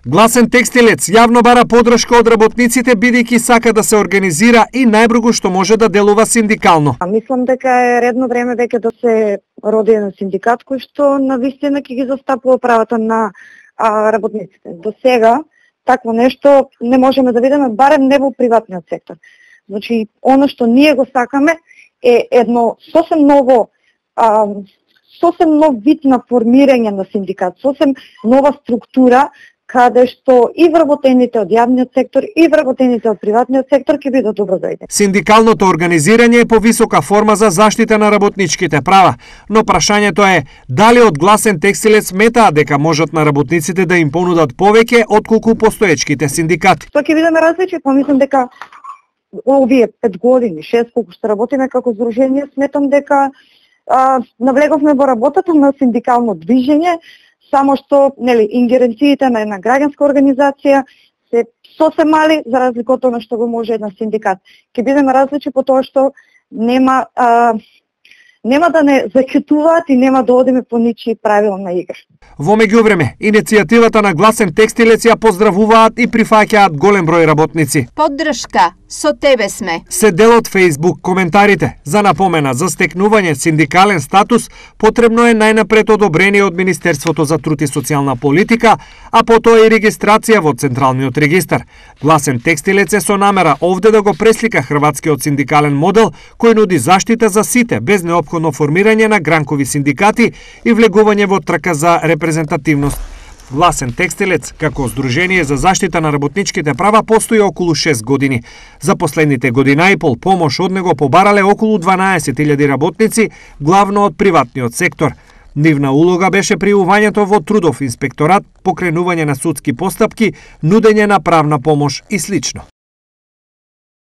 Гласен текстилец јавно бара подршка од работниците бидејќи сака да се организира и најбргу што може да делува синдикално. Мислам дека е редно време веќе да се роди еден синдикат кој што навистина ќе ги застапува правата на работниците. До сега такво нешто не можеме да видиме, барем не во приватниот сектор. Значи, оно што ние го сакаме е едно сосем нов вид на формирање на синдикат, сосем нова структура, каде што и вработените од јавниот сектор и вработените од приватниот сектор ќе бидат добро дојде. Синдикалното организирање е повисока форма за заштита на работничките права, но прашањето е дали од Гласен текстилец сметаат дека можат на работниците да им понудат повеќе отколку постоечките синдикати. Тоа ќе бидеме различни, помислам дека овие 5 години, 6 колку што работиме како здружение, сметам дека навлеговме во работата на синдикално движење, само што ингеренциите на една граѓанска организација се сосем мали за разлика од тоа што го може еден синдикат. Ќе бидеме различни по тоа што нема да не закетуваат и нема да одиме по ничии правила на игра. Во меѓувреме, иницијативата на Гласен текстилец ја поздравуваат и прифаќаат голем број работници. Поддршка, со тебе сме. Се дел од Facebook коментарите. За напомена, за стекнување синдикален статус потребно е најнапред одобрение од Министерството за труд и социјална политика, а потоа и регистрација во Централниот регистар. Гласен текстилец е со намера овде да го преслика хрватскиот синдикален модел кој нуди заштита за сите без неопходно формирање на гранкови синдикати и влегување во трка за репрезентативност. Гласен текстилец, како здружение за заштита на работничките права, постои околу 6 години. За последните година и пол помош од него побарале околу 12.000 работници, главно од приватниот сектор. Нивна улога беше пријувањето во трудов инспекторат, покренување на судски постапки, нудење на правна помош и слично.